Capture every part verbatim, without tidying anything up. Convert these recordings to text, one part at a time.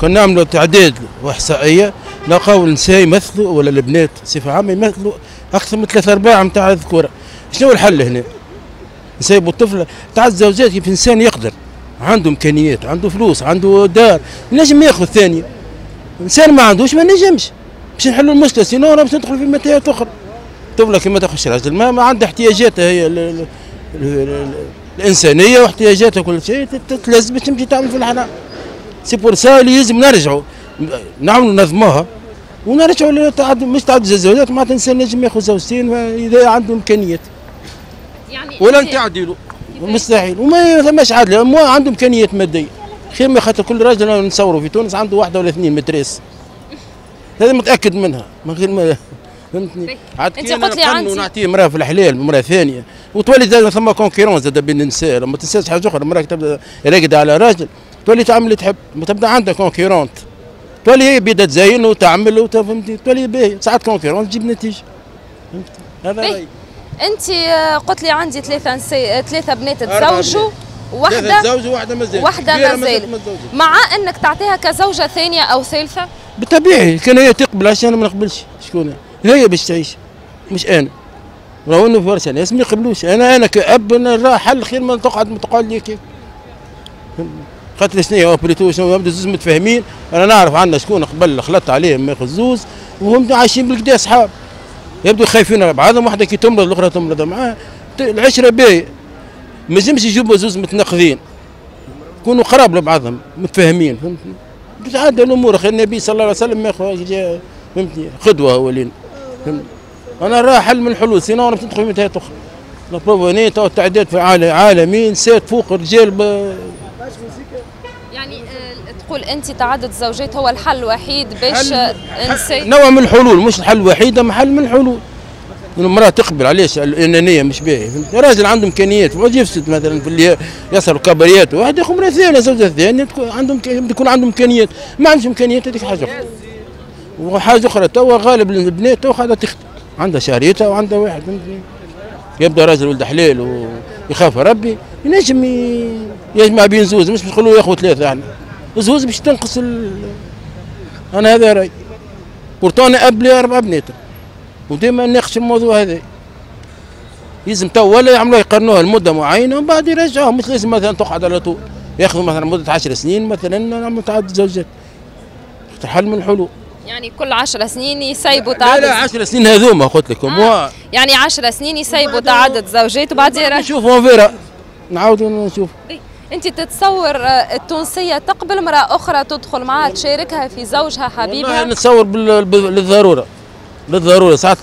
كنا نعملوا تعداد واحصائيه نلقاو النساء يمثلوا ولا البنات بصفة عامة يمثلوا اكثر من ثلاثة ارباع نتاع الذكورة. شنو الحل هنا؟ نسيبوا الطفل تاع الزوجات. كيف انسان يقدر عنده امكانيات، عنده فلوس، عنده دار، نجم ياخذ ثانية. انسان ما عندوش ما نجمش. باش نحلوا المشكلة sinon باش ندخل في متاهات اخرى. الطفلة كي ما تاخذش راجل ما, ما عندها احتياجاتها هي ال ال ال ال الانسانية واحتياجاتها كل شيء، تتلز باش تمشي تعمل في الحرام. c'est pour ça اللي لازم نرجعوا نعملوا نظموها ونرجعوا لتعدد، مش تعدد الزوجات، معناتها الانسان نجم ياخذ زوجتين اذا عنده امكانيات. يعني ولا تعدلوا مستحيل وما ثماش عدل، ما عنده امكانيات مادية خير ما خاطر كل راجل نصوروا في تونس عنده واحدة ولا اثنين maîtresses. هذا متاكد منها من غير ما فهمتني. عاد انت قلت لي عندي نعطيه مراة في الحلال مراة ثانية وتولي زاد ثم concurrence زاد بين النساء. ما تنساش حاجة اخرى، المراة تبدا راقده على راجل تولي تعمل اللي تحب، ما تبدا عندها concurrente تولي هي بيدا تزين وتعمل وتفهمتني، تولي باهي ساعات concurrence تجيب نتيجة. فهمت هذا رايي. انت قلت لي عندي ثلاثة نساء، ثلاثة بنات تزوجوا، واحدة تزوجوا واحدة مازالت، واحدة مازالت، مع انك تعطيها كزوجة ثانية او ثالثة؟ بالطبيعي كان هي تقبل، عشان انا ما نقبلش. شكون هي باش تعيش مش انا. راهو انه برشا ناس ما يقبلوش. انا انا كأب نرى حل خير ما تقعد تقعد لي كيف. خاطر شنو هو plutôt شنو يبدو زوز متفاهمين. انا نعرف عندنا شكون قبل خلطت عليهم ياخذ زوز وهم عايشين بالكدا اصحاب، يبدو خايفين على بعضهم، واحدة كي تمرض الاخرى تمرض معاها، العشرة باهيه. ما يلزمش يجيبوا زوز متناقضين، يكونوا قراب لبعضهم متفاهمين. فهمتني؟ تتعدى الامور. اخي النبي صلى الله عليه وسلم ياخذ فهمتني قدوة هو لينا. فهمتني؟ انا راه حل من الحلول، sinon باش تدخل في متاهات اخرى. la preuve تو التعداد في عالمين نساء فوق الرجال ب... يعني تقول انت تعدد الزوجات هو الحل الوحيد باش نساء؟ نوع من الحلول، مش الحل الوحيد، اما حل من الحلول. المراة تقبل، علاش الانانية مش باهيه. راجل عنده امكانيات وعاد يفسد مثلا في اللي يسهر كبريات، واحد ياخذ مراة ثانية زوجه ثانية عندهم يكون عنده امكانيات، ما عندوش امكانيات هذيك حاجة اخرى. وحاجه اخرى توا غالب البنات توا قاعدة تخدم، عندها شهريتها وعندها واحد. يبدا راجل ولد حلال ويخاف ربي ينجم يجمع بين زوز، مش باش نقولوا ياخذ ثلاثة يعني زوز باش تنقص ال... انا هذا رايي. pourtant انا اب لي اربع بنات وديما نناقش الموضوع هذا. لازم تو ولا يعملوها يقارنوها لمدة معينة ومن بعد يرجعوها، مش لازم مثلا تقعد على طول، ياخذوا مثلا مده عشر سنين مثلا نعملوا تعدد زوجات. حل من الحلول. يعني كل عشر سنين يسيبوا تعدد؟ لا لا عشر سنين هذوما قلت لكم. آه. يعني عشر سنين يسيبوا تعدد زوجات وبعد يرجعوا. نشوفوا on verra نعاودوا نشوف. انت تتصور التونسية تقبل امراة اخرى تدخل معها تشاركها في زوجها حبيبها؟ والله نتصور للضرورة، للضرورة ساعات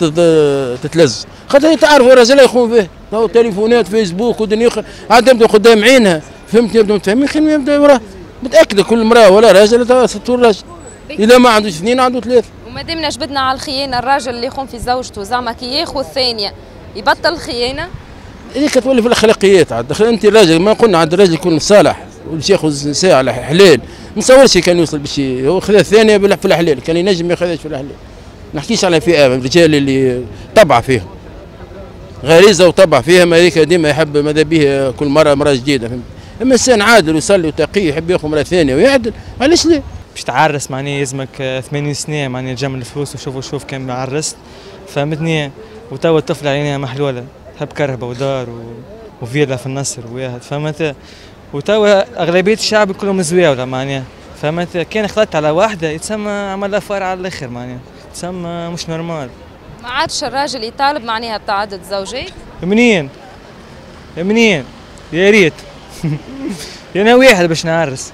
تتلز، خاطر تعرفوا الرجل يخون فيه، تو تليفونات فيسبوك ودنيا اخرى، عاد يبدا قدام عينها، فهمتني؟ يبداو متفاهمين خير ما يبدا وراه، متاكدة كل امراة ولا راجل ستور راجل، اذا ما عندوش اثنين عنده ثلاثة. وما دامنا جبدنا على الخيانة، الراجل اللي يخون في زوجته زعما كي ياخذ ثانية يبطل الخيانة؟ هذيك تولي في الاخلاقيات عاد، انت الراجل ما قلنا عند الراجل يكون صالح وباش ياخذ نساء على حلال، ما نتصورش كان يوصل باش هو خذا الثانية في الحلال، كان ينجم ما ياخذهاش في الحلال. ما نحكيش على فئة من الرجال اللي طبع فيهم غريزة وطبع فيهم، هذيك ديما يحب ماذا به كل مرة مراة جديدة، فهمت؟ اما انسان عادل ويصلي وتقي يحب ياخذ مراة ثانية ويعدل، علاش لا؟ باش تعرس معناها يلزمك ثمانين سنة معناها تجمع الفلوس وشوف وشوف كان عرست، فهمتني؟ وتوا الطفلة عينيها محلولة، تحب كرهبه ودار و... وفيلا في النصر وواحد، فهمت؟ وتوا اغلبية الشعب كلهم زواوله معناها، فهمت؟ كان خلطت على واحدة يتسمى عمل affaire على الاخر معناها، تسمى مش normal. ما عادش الراجل يطالب معناها بتعدد زوجات؟ منين؟ منين؟ يا ريت انا واحد باش نعرس،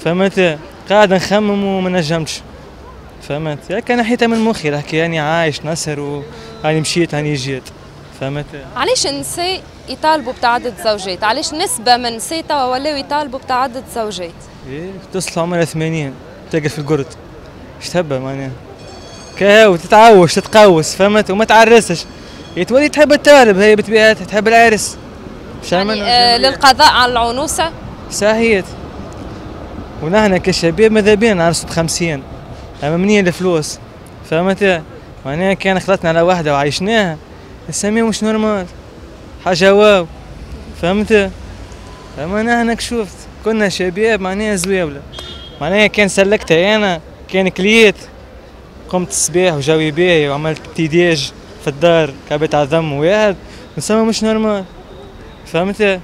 فهمت؟ قاعد نخمم وما نجمتش، فهمت؟ ياك انا حيتها من مخي الحكاية، يعني عايش نسهر وهاني مشيت هاني جيت، فهمت؟ علاش النساء يطالبوا بتعدد زوجات؟ علاش نسبة من النساء توا ولاو يطالبوا بتعدد زوجات؟ ايه تصل عمرها ثمانين تلقى في القرد، اش تهبى معناها؟ كهو تتعوش تتقوس، فهمت؟ وما تعرسش، تولي تحب الطالب هي بطبيعتها تحب العرس. يعني آه للقضاء على العنوسة؟ صحيت. ونحن كشباب ماذا بينا نعرسوا بخمسين، اما منين الفلوس؟ فهمت؟ معناها كان خلطنا على واحدة وعيشناها نسميها مش normal، حاجة واو، فهمت؟ اما نحن شفت كنا شباب معناها زواولة، معناها كان سلكتها انا، كان كليت قمت الصباح وجوي باهي وعملت petit déj في الدار، كعبة عظم وواحد نسمى مش normal، فهمت؟